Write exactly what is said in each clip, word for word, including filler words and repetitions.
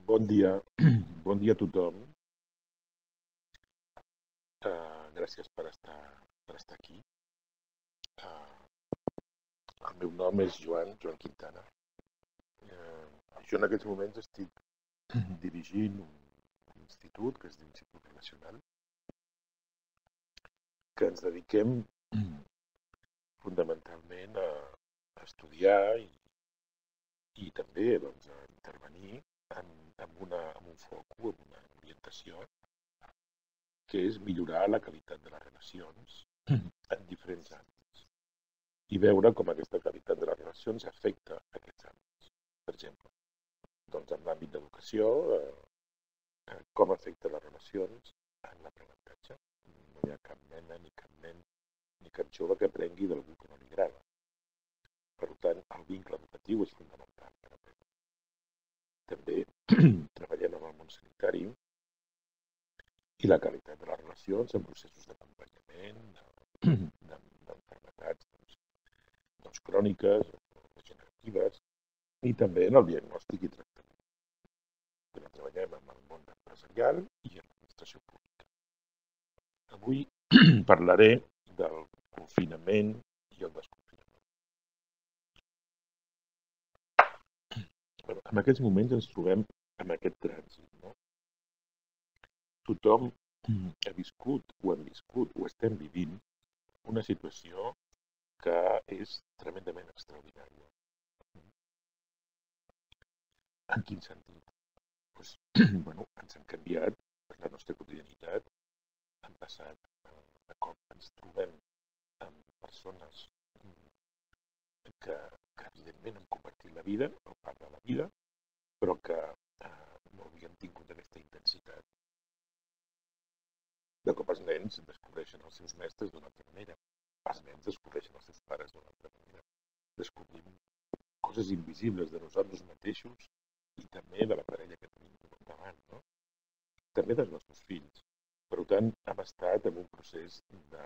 Bon dia, bon dia a tothom. Uh, gràcies per estar, per estar aquí. Uh, el meu nom és Joan, Joan Quintana. Uh, jo en aquests moments estic dirigint un, un institut que es diu Institut Relacional, que ens dediquem fundamentalment a, a estudiar i, i també doncs, a intervenir en, en, una, en un focus, en una orientació, que és millorar la qualitat de les relacions en diferents àmbits i veure com aquesta qualitat de les relacions afecta aquests àmbits. Per exemple, doncs en l'àmbit d'educació, eh, com afecta les relacions en l'aprenentatge. No hi ha cap nena ni cap nen ni cap jove que aprengui d'algú que no li agrada. Per tant, el vincle educatiu és fonamental per aprendre. També treballem en el món sanitari i la qualitat de les relacions en processos d'acompanyament, d'enfermetats doncs, doncs cròniques, degeneratives, i també en el diagnòstic i tractament. També treballem en el món empresarial i en l'administració pública. Avui parlaré del confinament i el desconfinament. Bueno, en aquests moments ens trobem en aquest trànsit, no? Tothom ha viscut o hem viscut o estem vivint una situació que és tremendament extraordinària. En quin sentit? Pues, bueno, ens han canviat la nostra quotidianitat, han passat de cop ens trobem amb persones que, que evidentment han compartit la vida, o part de la vida, però que eh, no havien tingut aquesta intensitat. De cop els nens descobreixen els seus mestres d'una altra manera. Els nens descobreixen els seus pares d'una altra manera. Descobrim coses invisibles de nosaltres mateixos i també de la parella que tenim davant, no? També dels nostres fills. Per tant, hem estat en un procés de...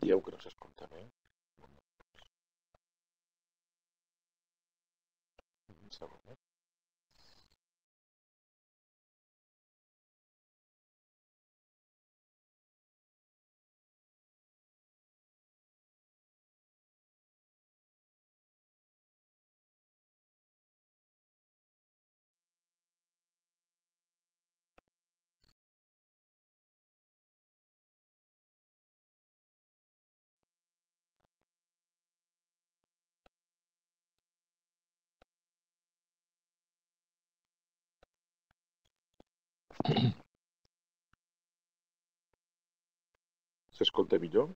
Dieu que no s'escolta bé? Un segon, eh? S'escolta millor?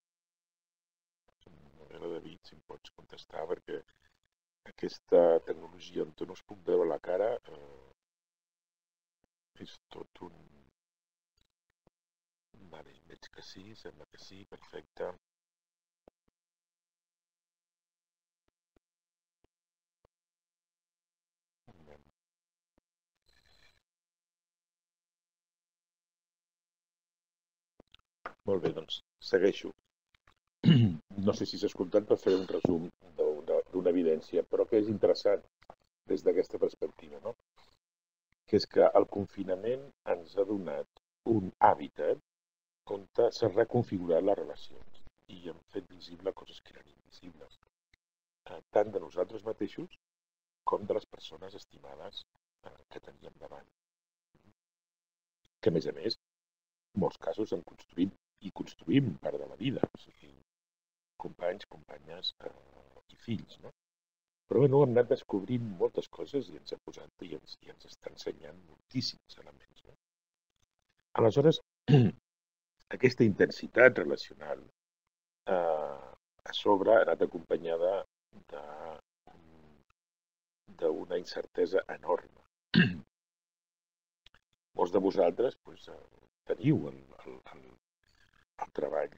A David, si em pots contestar, perquè aquesta tecnologia on no es puc veure la cara eh, és tot un... Vale, veig que sí, sembla que sí, perfecte. Molt bé, doncs segueixo. No sé si s'ha escoltat per fer un resum d'una evidència, però que és interessant des d'aquesta perspectiva, no? Que és que el confinament ens ha donat un hàbitat on s'han reconfigurat les relacions i hem fet visible coses que eren invisibles, tant de nosaltres mateixos com de les persones estimades que teníem davant. Que, a més a més, en molts casos hem construït i construïm part de la vida, o sigui, companys, companyes eh, i fills, no? Però bueno, hem anat descobrint moltes coses i ens ha posat i ens, i ens està ensenyant moltíssims elements, no? Aleshores, aquesta intensitat relacional eh, a sobre ha anat acompanyada d'una incertesa enorme. Molts de vosaltres pues, teniu el, el, el, el treball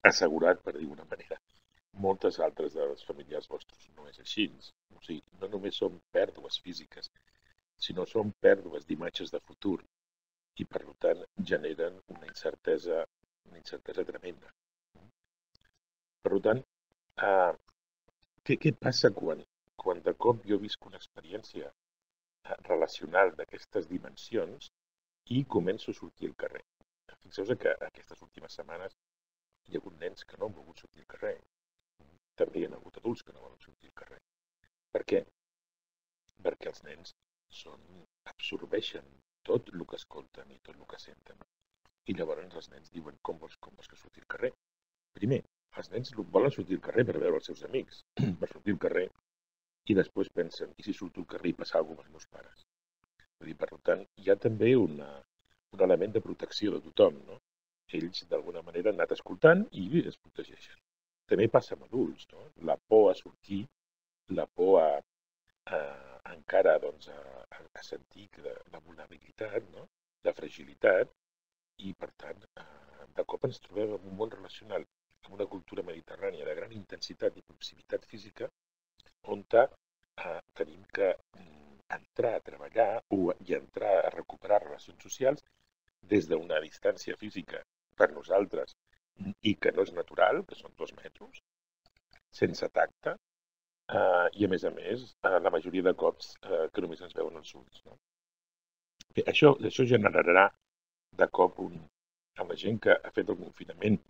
assegurat, per dir una manera. Moltes altres dels familiars vostres no és així. O sigui, no només són pèrdues físiques, sinó són pèrdues d'imatges de futur i, per tant, generen una incertesa, una incertesa tremenda. Per tant, eh, què, què passa quan, quan de cop jo visc una experiència relacional d'aquestes dimensions i començo a sortir al carrer. Fixeu-vos que aquestes últimes setmanes hi ha hagut nens que no han volgut sortir al carrer. També hi ha hagut adults que no volen sortir al carrer. Per què? Perquè els nens són, absorbeixen tot el que escolten i tot el que senten. I llavors els nens diuen, com vols, com vols que surti al carrer? Primer, els nens volen sortir al carrer per veure els seus amics, per sortir al carrer, i després pensen, i si surto al carrer i passa alguna cosa amb els meus pares? Vull dir, per tant, hi ha també una, un element de protecció de tothom, no? Ells, d'alguna manera, han anat escoltant i es protegeixen. També passa amb adults, no? La por a sortir, la por a, a encara doncs, a, a sentir la, la vulnerabilitat, no? La fragilitat, i per tant, eh, de cop ens trobem en un món relacional, en una cultura mediterrània de gran intensitat i proximitat física, on eh, tenim que entrar a treballar o, i entrar a recuperar relacions socials des d'una distància física per nosaltres i que no és natural, que són dos metres, sense tacte, eh, i a més a més, eh, la majoria de cops eh, que només ens veuen els ulls. No? Bé, això, això generarà de cop un, amb la gent que ha fet el confinament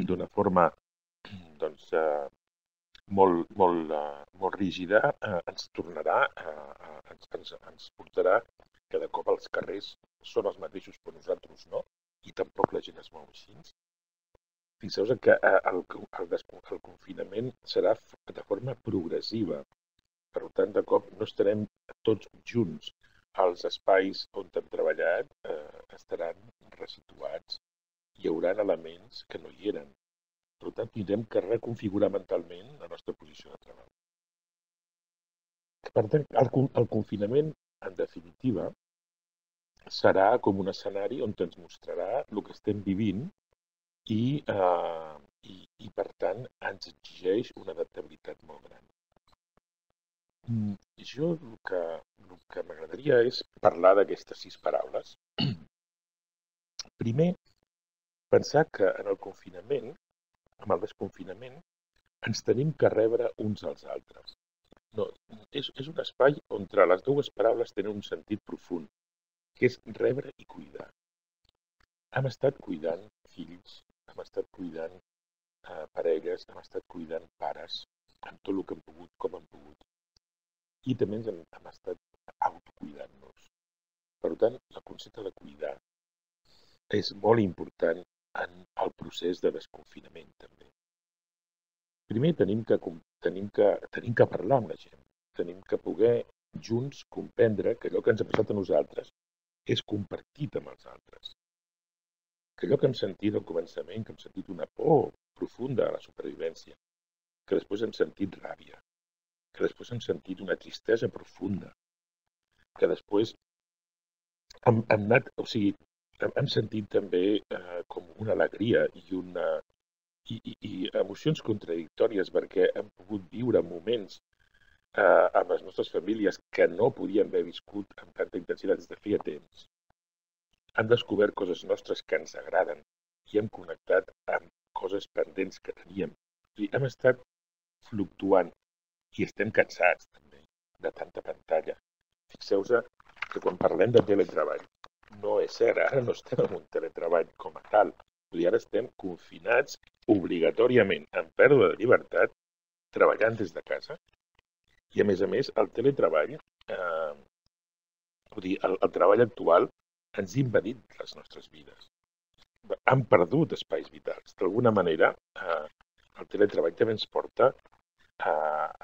d'una forma doncs, eh, molt, molt, uh, molt rígida, uh, ens tornarà, uh, ens, ens, ens portarà que de cop els carrers són els mateixos per nosaltres, no? I tampoc la gent es mou així. Fixeu-vos que uh, el, el, el confinament serà de forma progressiva. Per tant, de cop no estarem tots junts. Els espais on hem treballat uh, estaran resituats. Hi haurà elements que no hi eren. Per tant, tindrem que reconfigurar mentalment la nostra posició de treball. Per tant, el, el confinament, en definitiva, serà com un escenari on ens mostrarà el que estem vivint i, eh, i, i per tant, ens exigeix una adaptabilitat molt gran. Jo el que, el que m'agradaria és parlar d'aquestes sis paraules. Primer, pensar que en el confinament, amb el desconfinament, ens tenim que rebre uns als altres. No, és, és un espai on les dues paraules tenen un sentit profund, que és rebre i cuidar. Hem estat cuidant fills, hem estat cuidant eh, parelles, hem estat cuidant pares, amb tot el que hem pogut, com hem pogut. I també ens hem, hem estat autocuidant-nos. Per tant, el concepte de cuidar és molt important en el procés de desconfinament, també. Primer, tenim que, tenim que, tenim que parlar amb la gent. Tenim que poder junts comprendre que allò que ens ha passat a nosaltres és compartit amb els altres. Que allò que hem sentit al començament, que hem sentit una por profunda a la supervivència, que després hem sentit ràbia, que després hem sentit una tristesa profunda, que després hem, hem anat, o sigui, hem, hem sentit també eh, com una alegria i una I, i, i emocions contradictòries perquè hem pogut viure moments eh, amb les nostres famílies que no podíem haver viscut amb tanta intensitat des de feia temps. Hem descobert coses nostres que ens agraden i hem connectat amb coses pendents que teníem. I hem estat fluctuant i estem cansats també de tanta pantalla. Fixeu-vos que quan parlem de teletreball, no és cert, ara no estem en un teletreball com a tal. I ara estem confinats obligatòriament en pèrdua de llibertat, treballant des de casa. I a més a més, el teletreball, eh, vull dir, el, el treball actual ens ha impedit les nostres vides. Han perdut espais vitals. D'alguna manera, eh, el teletreball també ens porta a,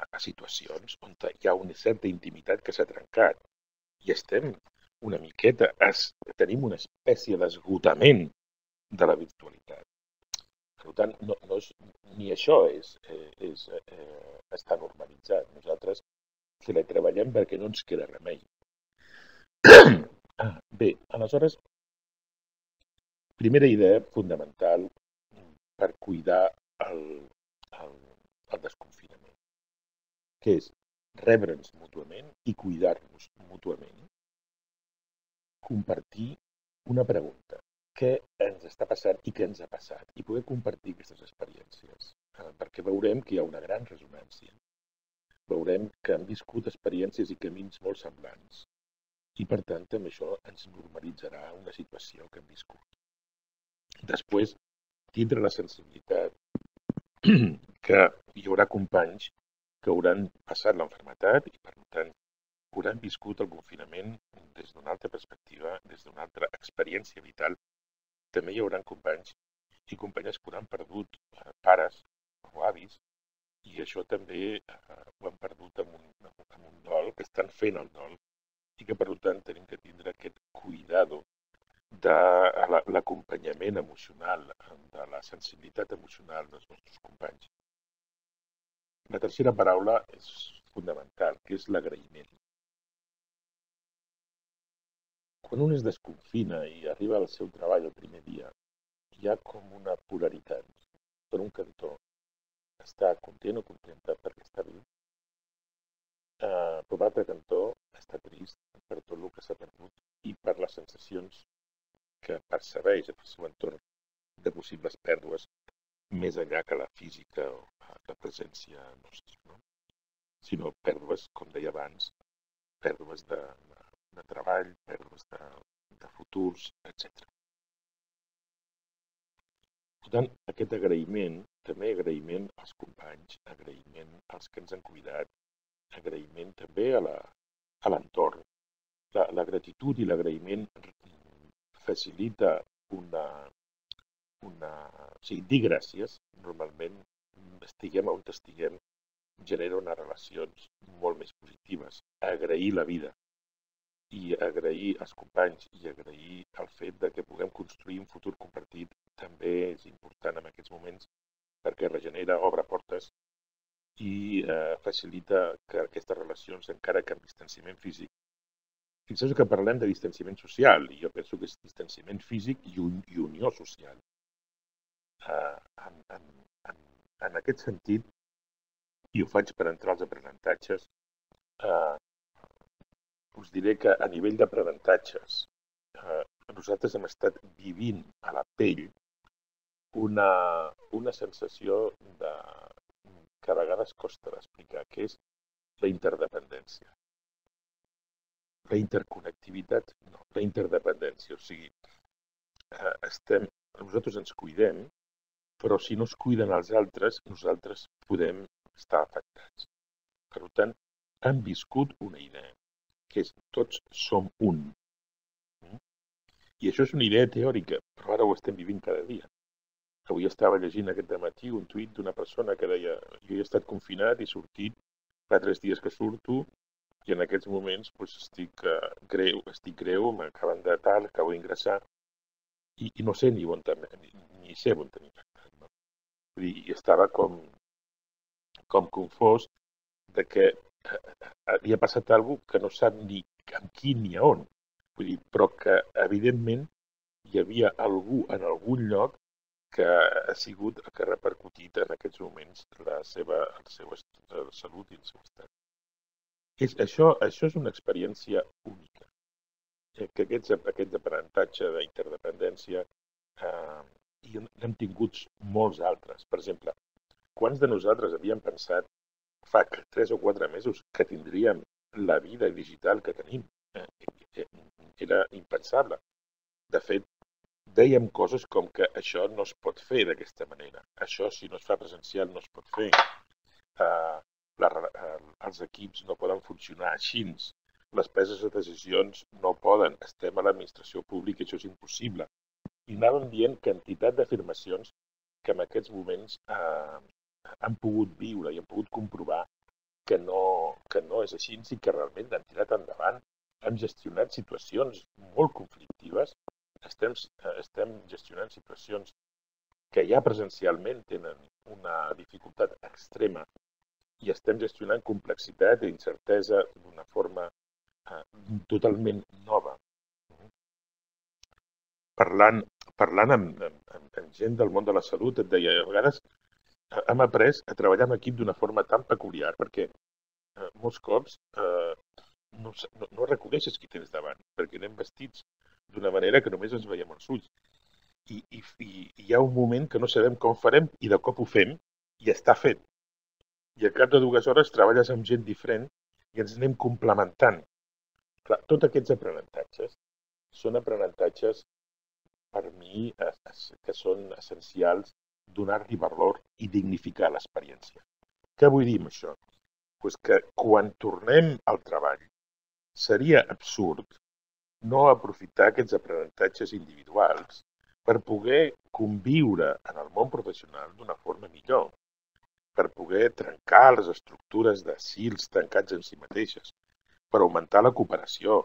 a situacions on hi ha una certa intimitat que s'ha trencat. I estem una miqueta, es, tenim una espècie d'esgotament de la virtualitat. Per tant, no, no és, ni això és, és, eh, està normalitzat. Nosaltres teletreballem perquè no ens queda remei. Ah, bé, aleshores, primera idea fundamental per cuidar el, el, el desconfinament, que és rebre'ns mútuament i cuidar-nos mútuament. Compartir una pregunta. Què ens està passant i què ens ha passat, i poder compartir aquestes experiències, eh, perquè veurem que hi ha una gran resonància. veurem que han viscut experiències i camins molt semblants. I, per tant, amb això ens normalitzarà una situació que hem viscut. Després, tindre la sensibilitat que hi haurà companys que hauran passat l'enfermetat i, per tant, hauran viscut el confinament des d'una altra perspectiva, des d'una altra experiència vital. També hi haurà companys i companyes que hauran perdut pares o avis, i això també eh, ho han perdut amb un, amb un dol, que estan fent el dol, i que per tant tenim que tindre aquest cuidado de l'acompanyament emocional, de la sensibilitat emocional dels nostres companys. La tercera paraula és fundamental, que és l'agraïment. Quan un es desconfina i arriba al seu treball el primer dia, hi ha com una polaritat. Per un cantó, està content o contenta perquè està viu. Uh, per l'altre cantó, està trist per tot el que s'ha perdut i per les sensacions que percebeix en el seu entorn de possibles pèrdues més enllà que la física o la presència nostra, no? Sinó pèrdues, com deia abans, pèrdues de, de, de treball, pèrdues de, de futurs, etcètera. Per tant, aquest agraïment, també agraïment als companys, agraïment als que ens han cuidat, agraïment també a l'entorn. La, la gratitud i l'agraïment facilita una, una... O sigui, dir gràcies, normalment, estiguem on estiguem, genera unes relacions molt més positives. Agrair la vida i agrair als companys i agrair el fet de que puguem construir un futur compartit també és important en aquests moments perquè regenera, obre portes i eh, facilita que aquestes relacions, encara que amb distanciament físic, fixeu que parlem de distanciament social i jo penso que és distanciament físic i, un, i unió social. Eh, en, en, en, en aquest sentit, i ho faig per entrar als aprenentatges, eh, us diré que a nivell d'aprenentatges eh, nosaltres hem estat vivint a la pell una, una sensació de, que a vegades costa d'explicar, que és la interdependència. La interconnectivitat, no, la interdependència. O sigui, eh, estem, nosaltres ens cuidem, però si no es cuiden els altres, nosaltres podem estar afectats. Per tant, hem viscut una idea, que és tots som un. I això és una idea teòrica, però ara ho estem vivint cada dia. Avui estava llegint aquest dematí un tuit d'una persona que deia jo he estat confinat i sortit, fa tres dies que surto i en aquests moments doncs, estic uh, greu, estic greu, m'acaben de tal, acabo d'ingressar i, i no sé ni on ni, ni sé on tenir infectat. No? Vull dir, estava com, com confós de que havia passat alguna cosa que no sap ni amb qui ni a on. Vull dir, però que evidentment hi havia algú en algun lloc que ha sigut el que ha repercutit en aquests moments la seva, el seu la salut i el seu estat. És, això, això és una experiència única. Que aquests, aquests aprenentatge d'interdependència eh, i n'hem tingut molts altres. Per exemple, quants de nosaltres havíem pensat fa tres o quatre mesos que tindríem la vida digital que tenim? Eh, era impensable. De fet, dèiem coses com que això no es pot fer d'aquesta manera. Això, si no es fa presencial, no es pot fer. Uh, la, uh, els equips no poden funcionar així. Les preses de decisions no poden. Estem a l'administració pública i això és impossible. I anàvem dient quantitat d'afirmacions que en aquests moments uh, han pogut viure i han pogut comprovar que no, que no és així i que realment han tirat endavant. Hem gestionat situacions molt conflictives. Estem, estem gestionant situacions que ja presencialment tenen una dificultat extrema i estem gestionant complexitat i incertesa d'una forma eh, totalment nova. Parlant, parlant amb, amb, amb gent del món de la salut, et deia, a vegades hem après a treballar en equip d'una forma tan peculiar perquè eh, molts cops eh, no, no, no reconeixes qui tens davant, perquè anem vestits d'una manera que només ens veiem els ulls. I, i, i hi ha un moment que no sabem com farem i de cop ho fem i està fet. i al cap de dues hores treballes amb gent diferent i ens anem complementant. Clar, tots aquests aprenentatges són aprenentatges, per mi, que són essencials donar-li valor i dignificar l'experiència. Què vull dir amb això? Pues que quan tornem al treball seria absurd no aprofitar aquests aprenentatges individuals per poder conviure en el món professional d'una forma millor, per poder trencar les estructures de cils tancats en si mateixes, per augmentar la cooperació,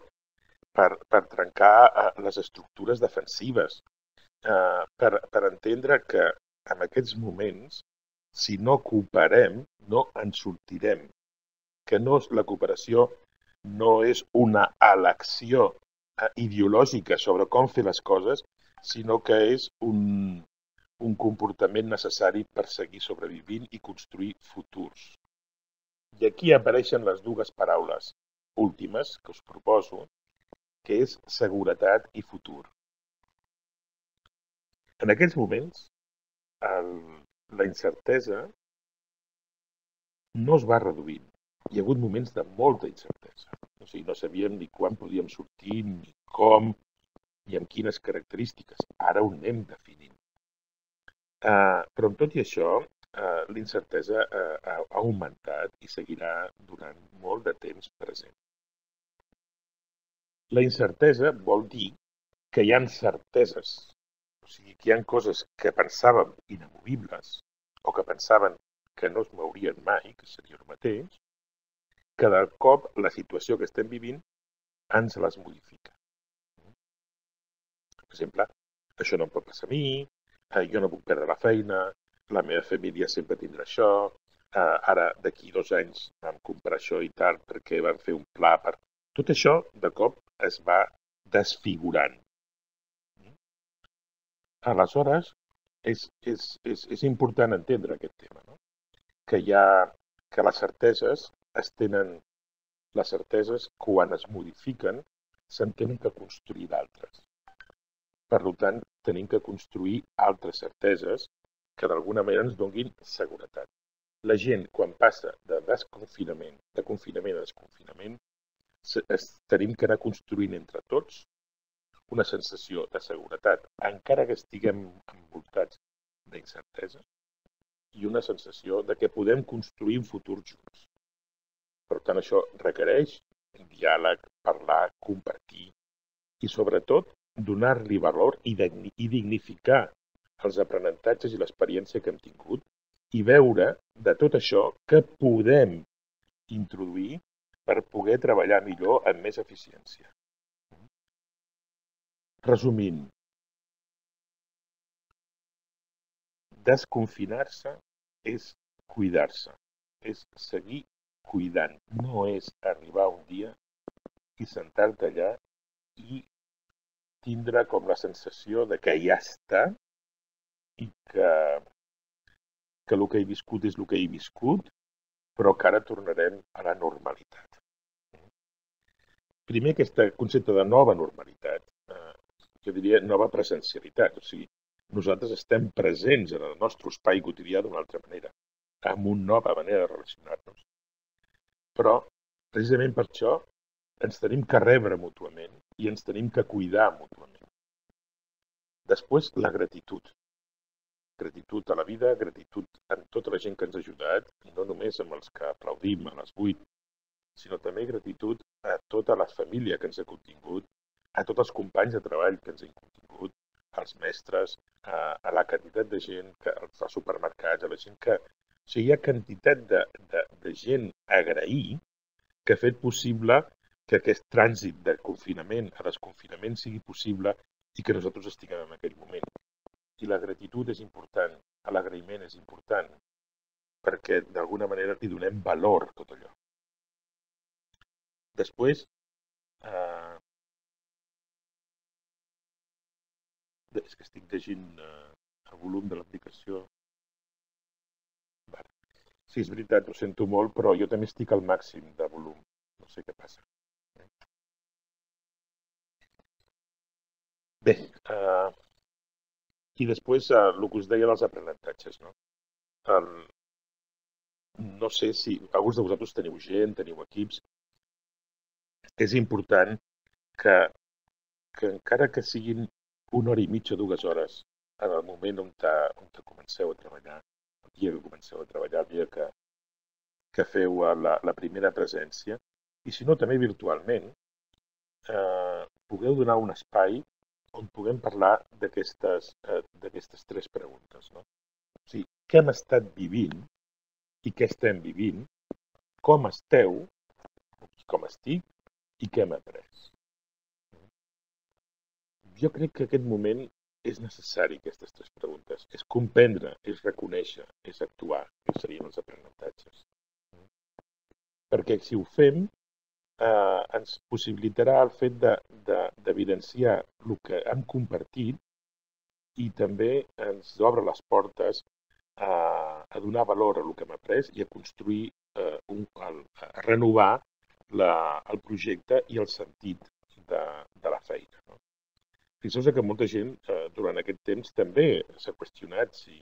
per, per trencar eh, les estructures defensives, eh, per, per entendre que en aquests moments, si no cooperem, no en sortirem. Que no, la cooperació no és una elecció eh, ideològica sobre com fer les coses, sinó que és un, un comportament necessari per seguir sobrevivint i construir futurs. I aquí apareixen les dues paraules últimes que us proposo, que és seguretat i futur. En aquests moments, el, la incertesa no es va reduint. Hi ha hagut moments de molta incertesa. O sigui, no sabíem ni quan podíem sortir, ni com, ni amb quines característiques. Ara ho anem definint. Uh, però amb tot i això, uh, l'incertesa uh, ha augmentat i seguirà durant molt de temps present. La incertesa vol dir que hi ha certeses. O sigui, que hi ha coses que pensàvem inamovibles o que pensaven que no es mourien mai, que seria el mateix, que de cop la situació que estem vivint ens les modifica. Per exemple, això no em pot passar a mi, eh, jo no puc perdre la feina, la meva família sempre tindrà això, eh, ara d'aquí dos anys vam comprar això i tal perquè vam fer un pla per... Tot això de cop es va desfigurant. Aleshores, és, és, és, és important entendre aquest tema, no? Que hi ha, que les certeses es tenen, les certeses quan es modifiquen se'n tenen que construir d'altres. Per tant, tenim que construir altres certeses que d'alguna manera ens donin seguretat. La gent, quan passa de desconfinament, de confinament a desconfinament, tenim que anar construint entre tots una sensació de seguretat, encara que estiguem envoltats d'incertesa, i una sensació de que podem construir un futur junts. Per tant, això requereix diàleg, parlar, compartir i, sobretot, donar-li valor i dignificar els aprenentatges i l'experiència que hem tingut i veure de tot això que podem introduir per poder treballar millor amb més eficiència. Resumint, desconfinar-se és cuidar-se, és seguir cuidant. No és arribar un dia i sentar-te allà i tindre com la sensació de que ja està i que, que el que he viscut és el que he viscut, però que ara tornarem a la normalitat. Primer, aquest concepte de nova normalitat, eh, jo diria nova presencialitat, o sigui, nosaltres estem presents en el nostre espai quotidià d'una altra manera, amb una nova manera de relacionar-nos. Però, precisament per això, ens tenim que rebre mútuament i ens tenim que cuidar mútuament. Després, la gratitud. Gratitud a la vida, gratitud a tota la gent que ens ha ajudat, no només amb els que aplaudim a les vuit, sinó també gratitud a tota la família que ens ha contingut, a tots els companys de treball que ens han contingut, als mestres, a, a la quantitat de gent que als supermercats, a la gent que... O sigui, hi ha quantitat de, de, de gent a agrair que ha fet possible que aquest trànsit de confinament a desconfinament sigui possible i que nosaltres estiguem en aquell moment. I la gratitud és important, l'agraïment és important, perquè d'alguna manera li donem valor a tot allò. Després, eh, és que estic llegint eh, el volum de l'aplicació. Vale. Sí, és veritat, ho sento molt, però jo també estic al màxim de volum. No sé què passa. Bé, eh, i després eh, el que us deia dels aprenentatges, no? El, no sé si alguns de vosaltres teniu gent, teniu equips. És important que, que encara que siguin una hora i mitja, dues hores, en el moment on, te, on te comenceu a treballar, el dia que comenceu a treballar, el dia que, que feu la, la primera presència, i si no també virtualment, eh, pugueu donar un espai on puguem parlar d'aquestes eh, d'aquestes tres preguntes. No? O sigui, què hem estat vivint i què estem vivint, com esteu, com estic i què hem après. Jo crec que aquest moment és necessari, aquestes tres preguntes. És comprendre, és reconèixer, és actuar, que serien els aprenentatges. Perquè si ho fem, eh, ens possibilitarà el fet d'evidenciar de, de, el que hem compartit i també ens obre les portes a, a donar valor a el que hem après i a construir, eh, un, a, a renovar la, el projecte i el sentit de, de la feina. No? Fixeu-vos que molta gent eh, durant aquest temps també s'ha qüestionat si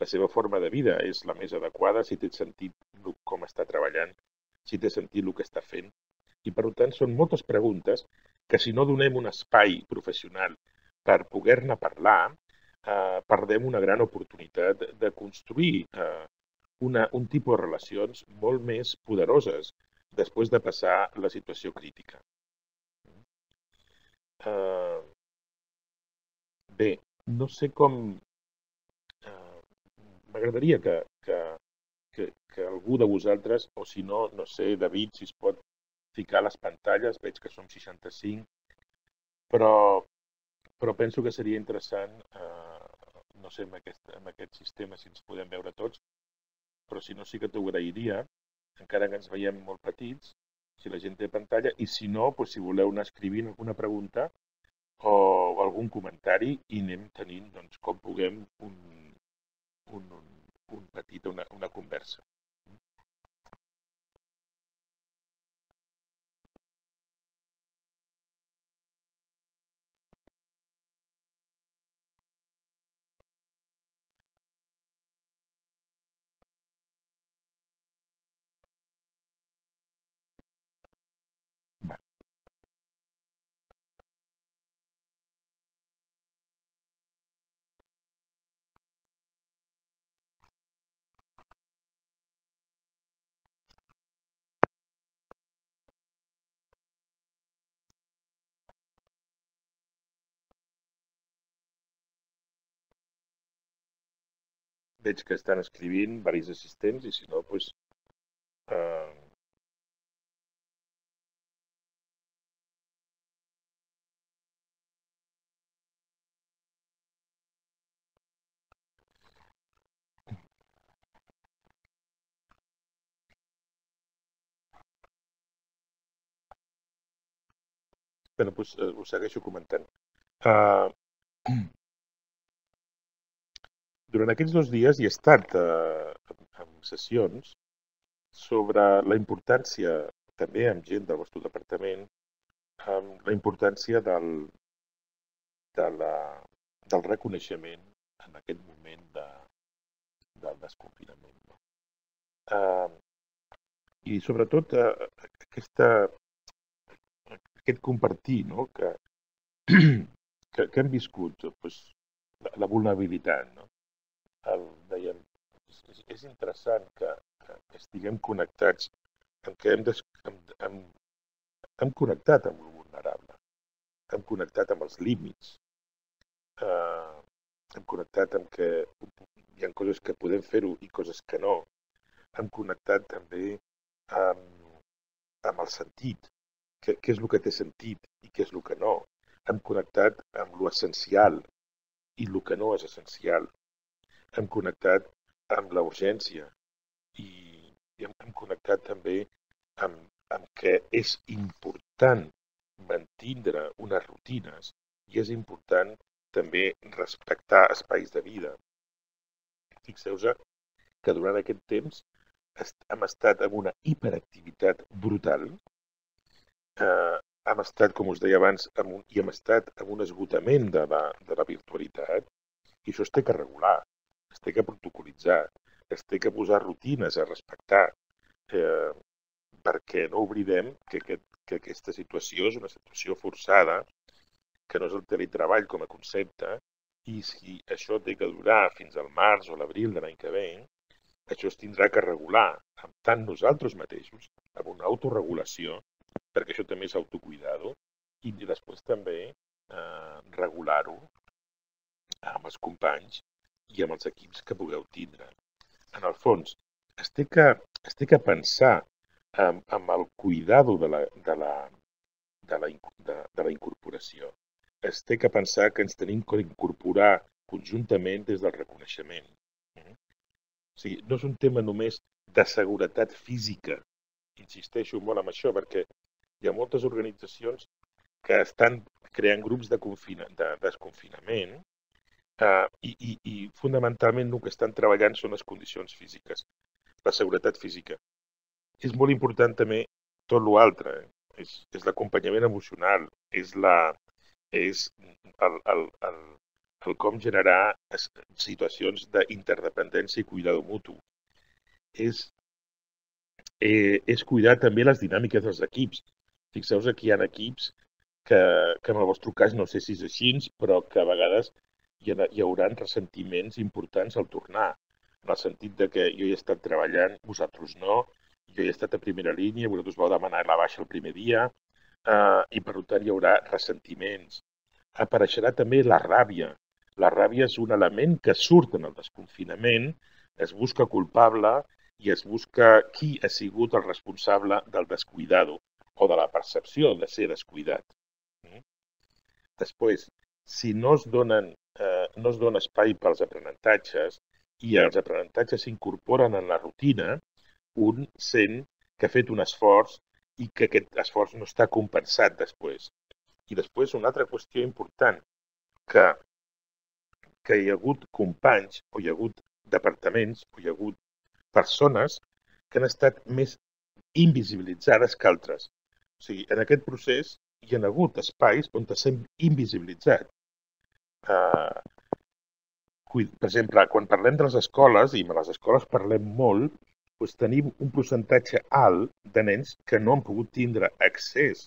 la seva forma de vida és la més adequada, si té sentit com està treballant, si té sentit el que està fent. I, per tant, són moltes preguntes que, si no donem un espai professional per poder-ne parlar, eh, perdem una gran oportunitat de construir eh, una, un tipus de relacions molt més poderoses després de passar la situació crítica. Eh, bé, no sé com... Eh, M'agradaria que, que, que, que algú de vosaltres, o si no, no sé, David, si es pot ficar les pantalles, veig que som seixanta-cinc, però, però penso que seria interessant, eh, no sé, amb aquest, amb aquest sistema si ens podem veure tots, però si no sí que t'ho agrairia, encara que ens veiem molt petits, si la gent té pantalla, i si no, doncs, si voleu anar escrivint alguna pregunta o algun comentari i anem tenint, doncs, com puguem un, un, un, un petit, una, una conversa. Veig que estan escrivint diversos assistents i si no, doncs... Eh... Bé, doncs eh, ho segueixo comentant. Uh... Durant aquests dos dies hi he estat eh, en sessions sobre la importància, també amb gent del vostre departament, amb la importància del, de la, del reconeixement en aquest moment de, del desconfinament. No? Uh, I sobretot uh, aquesta, aquest compartir, no? que, que, que hem viscut doncs, la, la vulnerabilitat. No? El, dèiem, és, és interessant que, que estiguem connectats, en què hem, des, hem, hem, hem connectat amb el vulnerable, hem connectat amb els límits, eh, hem connectat amb que hi ha coses que podem fer-ho i coses que no, hem connectat també amb, amb el sentit, què, què és el que té sentit i què és el que no, hem connectat amb l'essencial i el que no és essencial, hem connectat amb la urgència i, i hem, hem connectat també amb, amb que és important mantindre unes rutines i és important també respectar espais de vida. Fixeu-vos que durant aquest temps hem estat en una hiperactivitat brutal, eh, hem estat, com us deia abans, amb un, i hem estat en un esgotament de la, de la virtualitat, i això es té que regular, es té que protocolitzar, es té que posar rutines a respectar, eh, perquè no oblidem que, que, que aquesta situació és una situació forçada, que no és el teletreball com a concepte, i si això té que durar fins al març o l'abril de l'any que ve, això es tindrà que regular amb tant nosaltres mateixos, amb una autorregulació, perquè això també és autocuidado, i després també eh, regular-ho amb els companys i amb els equips que pugueu tindre. En el fons, es té que, es té que pensar amb, amb el cuidado de la, de, la, de, la, de, de la incorporació. Es té que pensar que ens tenim que incorporar conjuntament des del reconeixement. O sigui, no és un tema només de seguretat física. Insisteixo molt en això, perquè hi ha moltes organitzacions que estan creant grups de, confina, de desconfinament eh, i, i, i fonamentalment el que estan treballant són les condicions físiques, la seguretat física. És molt important també tot l'altre, eh? és, és l'acompanyament emocional, és, la, és el, el, el, el com generar situacions d'interdependència i cuidado mutu. És, eh, és cuidar també les dinàmiques dels equips. Fixeu-vos que hi ha equips que, que en el vostre cas no sé si és així, però que a vegades hi, ha, hi haurà ressentiments importants al tornar, en el sentit de que jo he estat treballant, vosaltres no, jo he estat a primera línia, vosaltres vau demanar la baixa el primer dia, eh, i per tant hi haurà ressentiments. Apareixerà també la ràbia. La ràbia és un element que surt en el desconfinament, es busca culpable i es busca qui ha sigut el responsable del descuidado o de la percepció de ser descuidat. Després, si no es, donen, eh, no es dona espai pels aprenentatges i els aprenentatges s'incorporen en la rutina, un sent que ha fet un esforç i que aquest esforç no està compensat després. I després una altra qüestió important, que, que hi ha hagut companys o hi ha hagut departaments o hi ha hagut persones que han estat més invisibilitzades que altres. O sigui, en aquest procés hi ha hagut espais on s'han invisibilitzat. Uh, per exemple, quan parlem de les escoles, i a les escoles parlem molt, doncs tenim un percentatge alt de nens que no han pogut tindre accés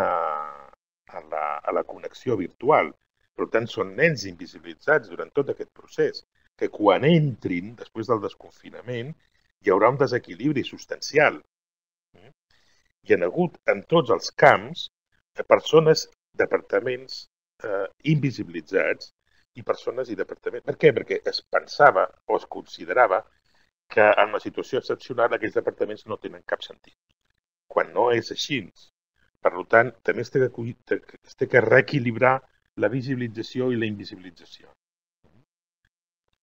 a, a, la, a la connexió virtual. Per tant, són nens invisibilitzats durant tot aquest procés, que quan entrin, després del desconfinament, hi haurà un desequilibri substancial. Hi ha hagut en tots els camps persones, departaments eh, invisibilitzats i persones i departaments. Per què? Perquè es pensava o es considerava que en una situació excepcional aquells departaments no tenen cap sentit, quan no és així. Per tant, també es té que, es té que reequilibrar la visibilització i la invisibilització.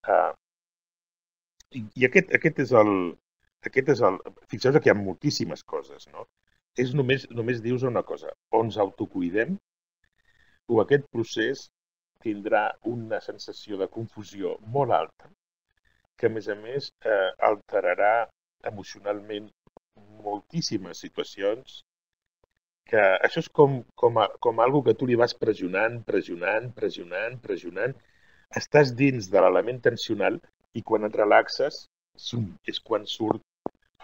Uh, I i aquest, aquest és el... Aquest és el fixeu-vos que hi ha moltíssimes coses, no? És només, només dius una cosa, o ens autocuidem o aquest procés tindrà una sensació de confusió molt alta que, a més a més, eh, alterarà emocionalment moltíssimes situacions, que això és com, com, a, com algo que tu li vas pressionant, pressionant, pressionant, pressionant. Estàs dins de l'element tensional i quan et relaxes és quan surt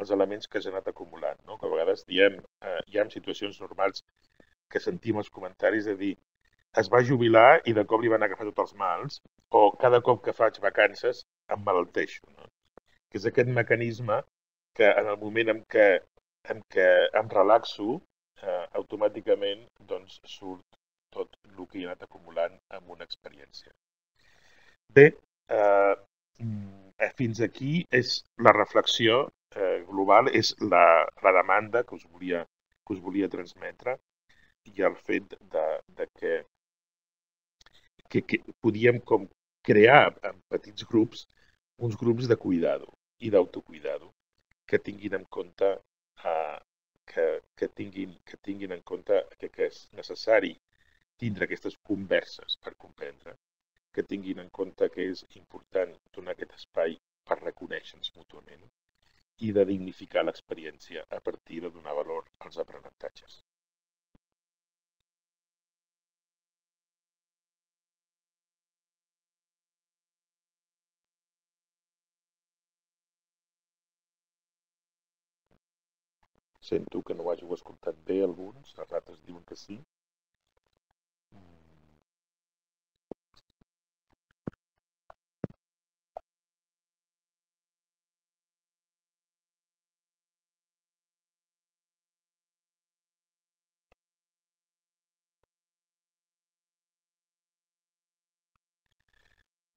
els elements que s'han anat acumulant. No? Que a vegades diem, eh, hi ha situacions normals que sentim els comentaris de dir es va jubilar i de cop li van agafar tots els mals, o cada cop que faig vacances em malalteixo. No? Que és aquest mecanisme que en el moment en què, en què em relaxo, eh, automàticament doncs, surt tot el que he anat acumulant amb una experiència. Bé, eh, fins aquí és la reflexió eh, global, és la, la demanda que us, volia, que us volia transmetre i el fet de, de que, que, que podíem com crear en petits grups uns grups de cuidado i d'autocuidado que tinguin en compte eh, que, que, tinguin, que tinguin en compte que, que és necessari tindre aquestes converses per comprendre, que tinguin en compte que és important donar aquest espai per reconèixer-nos mútuament i de dignificar l'experiència a partir de donar valor als aprenentatges. Sento que no ho hàgiu escoltat bé alguns, els altres diuen que sí.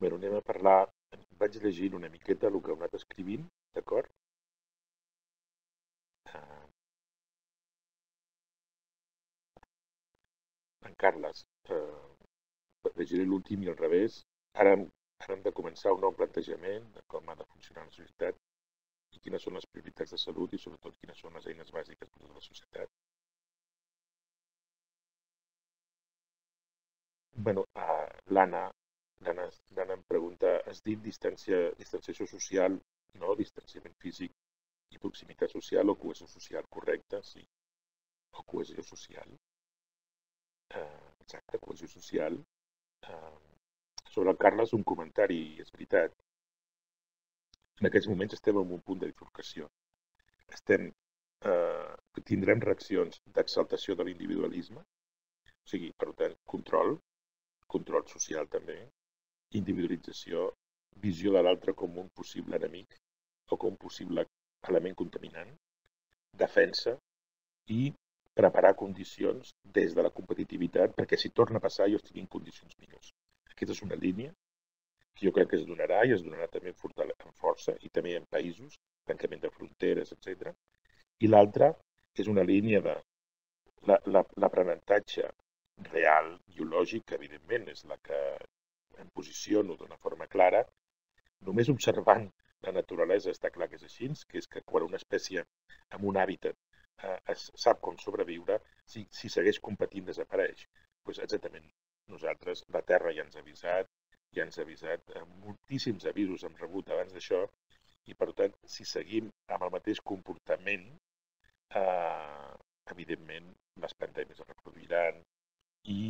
Bé, anem a parlar, vaig llegint una miqueta el que heu anat escrivint, d'acord? Uh, en Carles, uh, llegiré l'últim i al revés. Ara, ara hem de començar un nou plantejament de com ha de funcionar la societat i quines són les prioritats de salut i sobretot quines són les eines bàsiques per a tota la societat. Bueno, uh, l'Anna L'Anna em pregunta, has dit distància, distanciació social, no? Distanciament físic i proximitat social o cohesió social, correcte? Sí. O cohesió social. Uh, exacte, cohesió social. Uh, sobre el Carles, un comentari, és veritat. En aquests moments estem en un punt de bifurcació. Estem, uh, tindrem reaccions d'exaltació de l'individualisme, o sigui, per tant, control, control social també, individualització, visió de l'altre com un possible enemic o com un possible element contaminant, defensa i preparar condicions des de la competitivitat perquè si torna a passar jo estigui en condicions millors. Aquesta és una línia que jo crec que es donarà i es donarà també en força i també en països, tancament de fronteres, etcètera. I l'altra és una línia de l'aprenentatge real, biològic, que evidentment és la que em posiciono d'una forma clara, només observant la naturalesa està clar que és així, que és que quan una espècie amb un hàbitat eh, es sap com sobreviure, si, si segueix competint desapareix. Pues exactament, nosaltres, la Terra ja ens ha avisat, ja ens ha avisat, eh, moltíssims avisos hem rebut abans d'això, i per tant, si seguim amb el mateix comportament, eh, evidentment les pandèmies es reproduiran i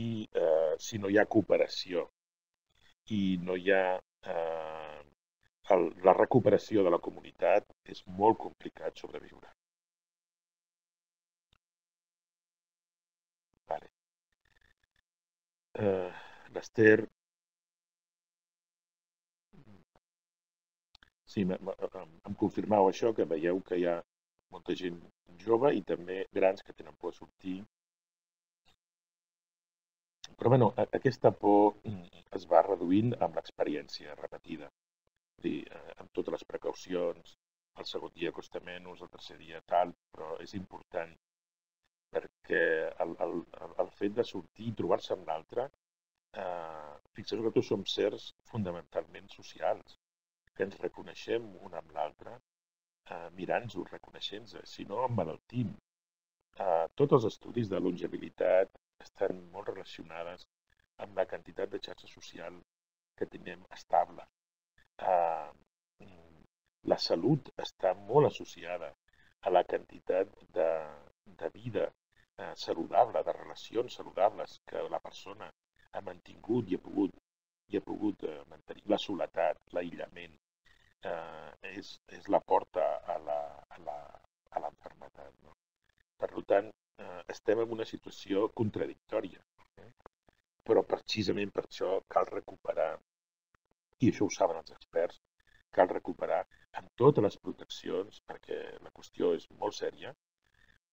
eh, si no hi ha cooperació i no hi ha eh, el, la recuperació de la comunitat, és molt complicat sobreviure. Vale. Eh, L'Ester... Sí, em confirmau això, que veieu que hi ha molta gent jove i també grans que tenen por a sortir. Però bueno, aquesta por es va reduint amb l'experiència repetida. Dir, amb totes les precaucions, el segon dia costa menys, el tercer dia tal, però és important perquè el, el, el fet de sortir i trobar-se amb l'altre, eh, fixeu que tots som sers fonamentalment socials, que ens reconeixem un amb l'altre, eh, mirant-nos, reconeixent-nos, si no emmalaltim. Eh, tots els estudis de longevitat estan molt relacionades amb la quantitat de xarxa social que tenim estable. Uh, la salut està molt associada a la quantitat de, de vida uh, saludable, de relacions saludables que la persona ha mantingut i ha pogut, i ha pogut uh, mantenir. La soledat, l'aïllament, uh, és, és la porta a la, a la, a l'enfermetat. No? Per tant, uh, estem en una situació contradictòria, eh? Però precisament per això cal recuperar, i això ho saben els experts, cal recuperar amb totes les proteccions, perquè la qüestió és molt sèria,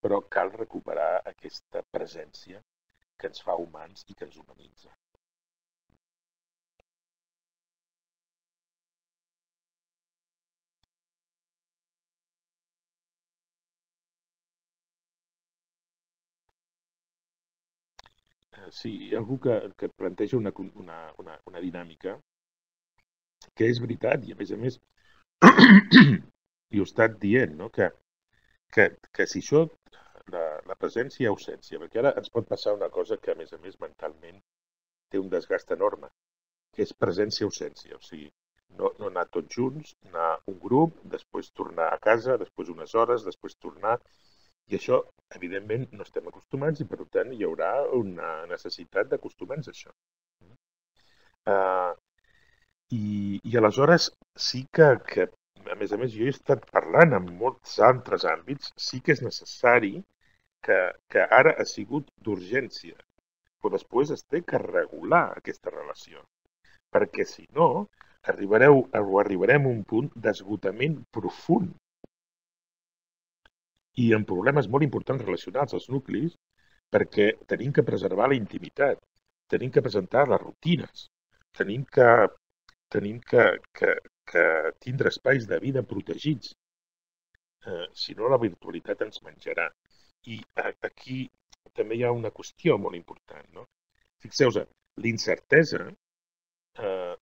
però cal recuperar aquesta presència que ens fa humans i que ens humanitza. Sí, hi ha algú que, que planteja una, una, una, una dinàmica que és veritat i a més a més i ho he estat dient, no? que, que, que si això, la, la presència i ausència, perquè ara ens pot passar una cosa que a més a més mentalment té un desgast enorme, que és presència-ausència, o sigui, no, no anar tots junts, anar un grup, després tornar a casa, després unes hores, després tornar, i això, evidentment, no estem acostumats i, per tant, hi haurà una necessitat d'acostumar-nos a això. Uh, i, I aleshores sí que, que a més a més, jo he estat parlant en molts altres àmbits, sí que és necessari que, que ara ha sigut d'urgència, però després es té que regular aquesta relació, perquè si no, arribareu, o arribarem a un punt d'esgotament profund i amb problemes molt importants relacionats als nuclis, perquè tenim que preservar la intimitat, tenim que presentar les rutines, tenim que, tenim que, que, que tindre espais de vida protegits. Eh, si no, la virtualitat ens menjarà. I eh, aquí també hi ha una qüestió molt important, no? Fixeu-vos, l'incertesa, eh,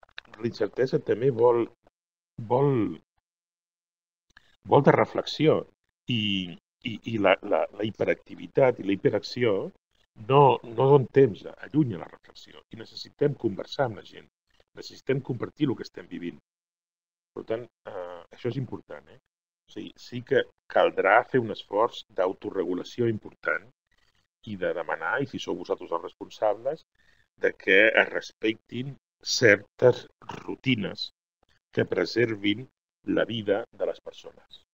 l'incertesa també vol, vol, vol de reflexió i, i, i la, la, la hiperactivitat i la hiperacció no, no donen temps, allunya la reflexió i necessitem conversar amb la gent, necessitem compartir el que estem vivint. Per tant, eh, això és important, eh? O sigui, sí que caldrà fer un esforç d'autoregulació important i de demanar, i si sou vosaltres els responsables, de que es respectin certes rutines que preservin la vida de les persones.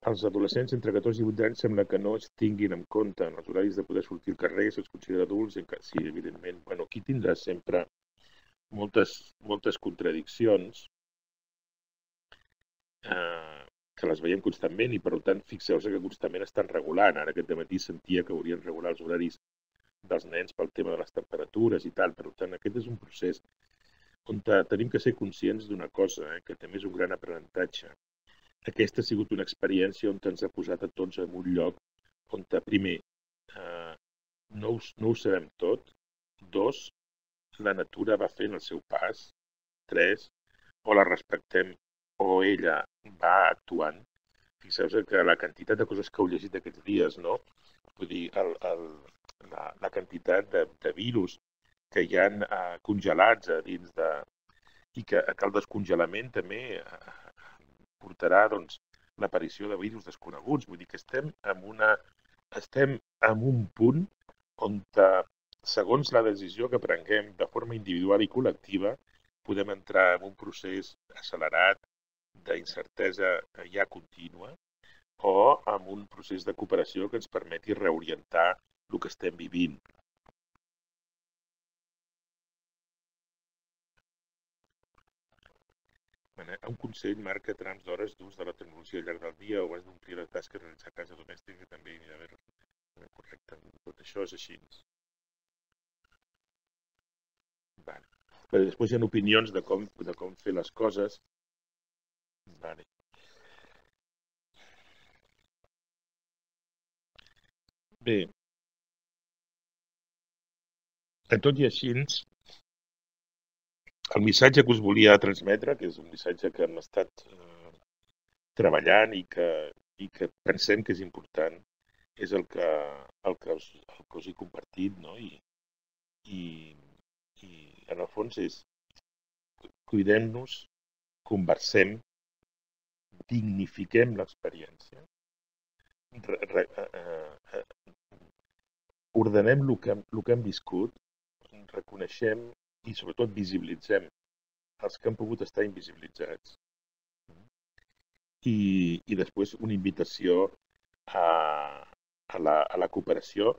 Els adolescents entre catorze i divuit anys sembla que no es tinguin en compte en els horaris de poder sortir al carrer, se'ls considera adults, sí, evidentment. Bueno, aquí tindrà sempre moltes, moltes contradiccions eh, que les veiem constantment i, per tant, fixeu-vos que constantment estan regulant. Ara aquest matí sentia que haurien regular els horaris dels nens pel tema de les temperatures i tal. Per tant, aquest és un procés on tenim que ser conscients d'una cosa, eh, que també és un gran aprenentatge. Aquesta ha sigut una experiència on ens ha posat a tots en un lloc on, primer, eh, no, ho, no ho sabem tot, dos, la natura va fent el seu pas, tres, o la respectem o ella va actuant. Fixeu-vos que la quantitat de coses que heu llegit aquests dies, no? Vull dir, el, el, la, la quantitat de, de virus que hi ha eh, congelats a dins de... i que, que el descongelament també eh, portarà doncs, l'aparició de virus desconeguts. Vull dir que estem en, una, estem en un punt on, segons la decisió que prenguem de forma individual i col·lectiva, podem entrar en un procés accelerat d'incertesa ja contínua o en un procés de cooperació que ens permeti reorientar el que estem vivint. Un consell marca trams d'hores d'ús de la tecnologia al llarg del dia o abans d'omplir la tasca de realitzar casa domèstica, que també hi ha d'haver correcte. Tot això és així. Vale. Però després hi ha opinions de com, de com fer les coses. Vale. Bé, a tot i així, el missatge que us volia transmetre, que és un missatge que hem estat eh, treballant i que, i que pensem que és important, és el que, el que, us, el que us he compartit, no? I, i, i en el fons és cuidem-nos, conversem, dignifiquem l'experiència, eh, ordenem el que, el que hem viscut, reconeixem i sobretot visibilitzem els que han pogut estar invisibilitzats. I, i després una invitació a, a, la, a la cooperació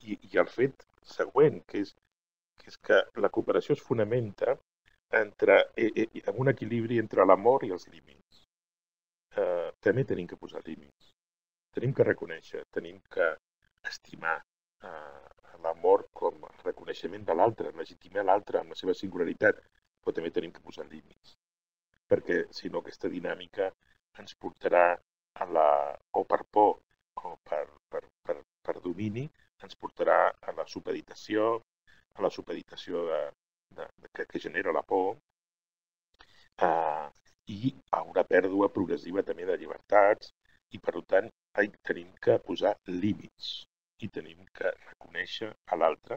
i, i al fet següent, que és, que és que la cooperació es fonamenta entre, eh, en un equilibri entre l'amor i els límits. Eh, també tenim que posar límits. Tenim que reconèixer, tenim que estimar eh, l'amor com a reconeixement de l'altre, legitimar l'altre amb la seva singularitat, però també tenim que posar límits. Perquè, si no, aquesta dinàmica ens portarà a la, o per por o per, per, per, per domini, ens portarà a la supeditació, a la supeditació de, de, de, que, que genera la por, eh, i a una pèrdua progressiva també de llibertats, i per tant tenim que posar límits i tenim que reconèixer a l'altre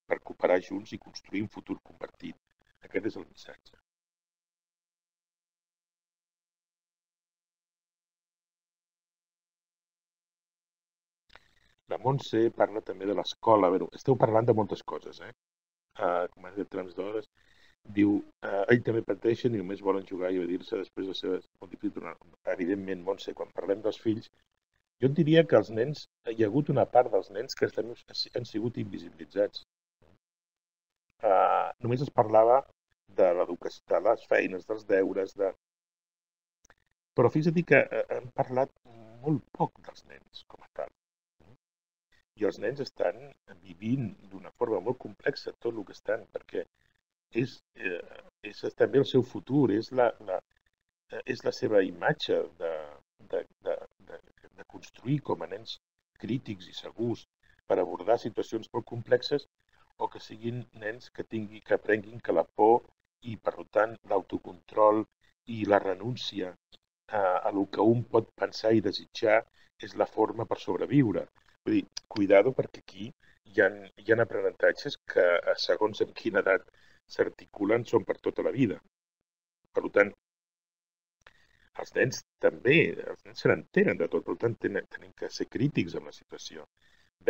per cooperar junts i construir un futur compartit. Aquest és el missatge. La Montse parla també de l'escola. Bé, esteu parlant de moltes coses, eh? Uh, com has dit, trams d'hores. diu, eh, ell també pateixen i només volen jugar i evadir-se després de ser multiplicat. Evidentment, Montse, quan parlem dels fills, jo et diria que els nens, hi ha hagut una part dels nens que estan, han sigut invisibilitzats. Uh, només es parlava de l'educació, de les feines, dels deures, de... però fins a dir que uh, hem parlat molt poc dels nens com a tal. I els nens estan vivint d'una forma molt complexa tot el que estan, perquè és, eh, és també el seu futur, és la, la, és la seva imatge de, de, de, de, de construir com a nens crítics i segurs per abordar situacions molt complexes, o que siguin nens que, tingui, que aprenguin que la por i, per tant, l'autocontrol i la renúncia a, a el que un pot pensar i desitjar és la forma per sobreviure. Vull dir, cuidado, perquè aquí hi ha, hi ha aprenentatges que, segons en quina edat s'articulen, són per tota la vida. Per tant, els nens també, els nens se n'entenen de tot, per tant, tenen, tenen que ser crítics amb la situació,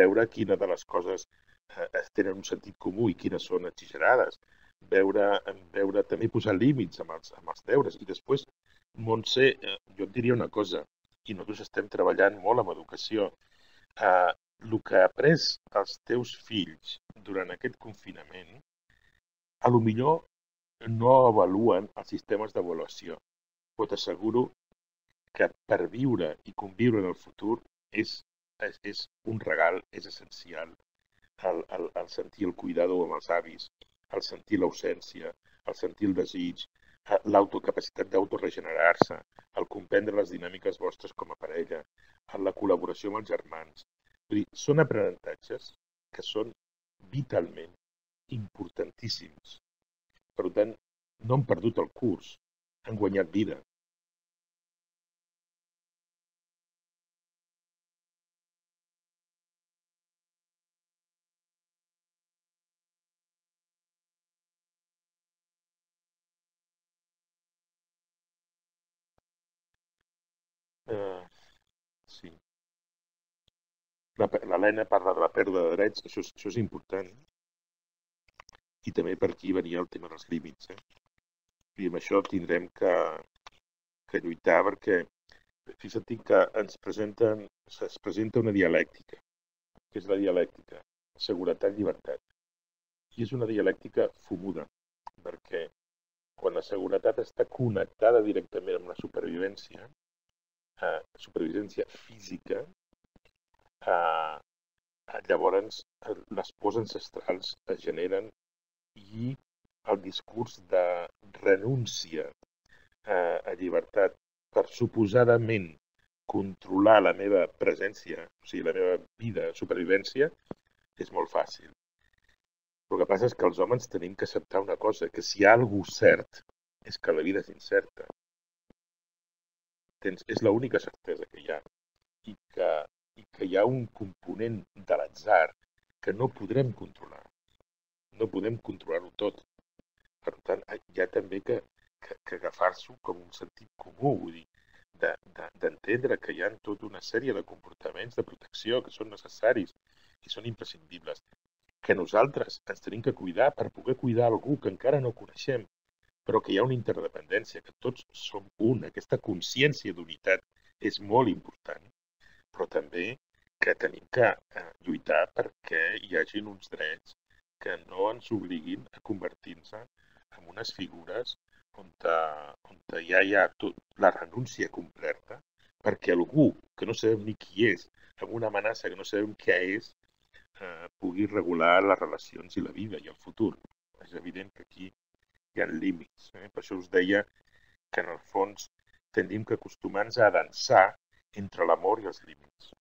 veure quina de les coses eh, tenen un sentit comú i quines són exagerades, veure, veure també posar límits amb els, amb els deures. I després, Montse, eh, jo et diria una cosa, i nosaltres estem treballant molt amb educació, eh, el que ha après els teus fills durant aquest confinament, a lo millor no avaluen els sistemes d'avaluació, però t'asseguro que per viure i conviure en el futur és, és, és un regal, és essencial. El, el, el sentir el cuidado amb els avis, el sentir l'ausència, el sentir el desig, l'autocapacitat d'autoregenerar-se, el comprendre les dinàmiques vostres com a parella, la col·laboració amb els germans. Vull dir, són aprenentatges que són vitalment importantíssims. Per tant, no han perdut el curs, han guanyat vida. Uh, sí. L'Helena parla de la pèrdua de drets, això, això és important. I també per aquí venia el tema dels límits. Eh? I amb això tindrem que, que lluitar, perquè fixa't que ens presenten, es presenta una dialèctica, que és la dialèctica seguretat-llibertat. I és una dialèctica fumuda, perquè quan la seguretat està connectada directament amb la supervivència, eh, supervivència física, eh, llavors les pors ancestrals es generen i el discurs de renúncia eh, a llibertat per suposadament controlar la meva presència, o sigui, la meva vida, supervivència, és molt fàcil. Però el que passa és que els homes tenim que acceptar una cosa, que si hi ha alguna cert és que la vida és incerta. Tens, és l'única certesa que hi ha. I que, i que hi ha un component de l'atzar que no podrem controlar. No podem controlar-ho tot. Per tant, hi ha també que, que, que agafar-s'ho com un sentit comú, vull dir, d'entendre de, de, que hi ha tota una sèrie de comportaments de protecció que són necessaris i són imprescindibles, que nosaltres ens tenim que cuidar per poder cuidar algú que encara no coneixem, però que hi ha una interdependència, que tots som un. Aquesta consciència d'unitat és molt important, però també que tenim que eh, lluitar perquè hi hagi uns drets que no ens obliguin a convertir-nos en unes figures on, on ja hi ha tot, la renúncia completa, perquè algú que no sabem ni qui és, amb una amenaça que no sabem què és, eh, pugui regular les relacions i la vida i el futur. És evident que aquí hi ha límits. Eh? Per això us deia que en el fons tenim que acostumar-nos a dansar entre l'amor i els límits.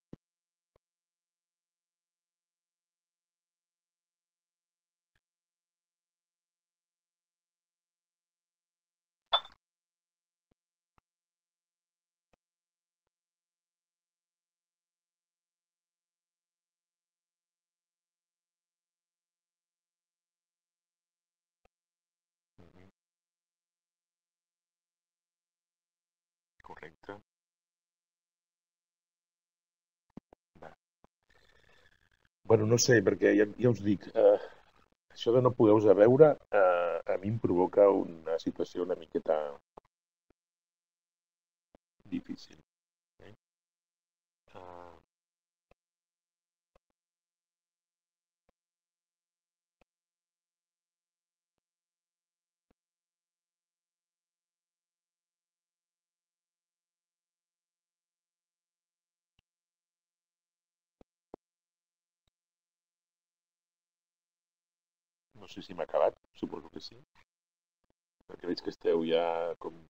Correcte. Va. Bueno, no sé, perquè ja, ja us dic, eh, això de no poder-vos a veure eh, a mi em provoca una situació una miqueta difícil. Eh? Uh, no sé si m'ha acabat, suposo que sí, perquè veig que esteu ja com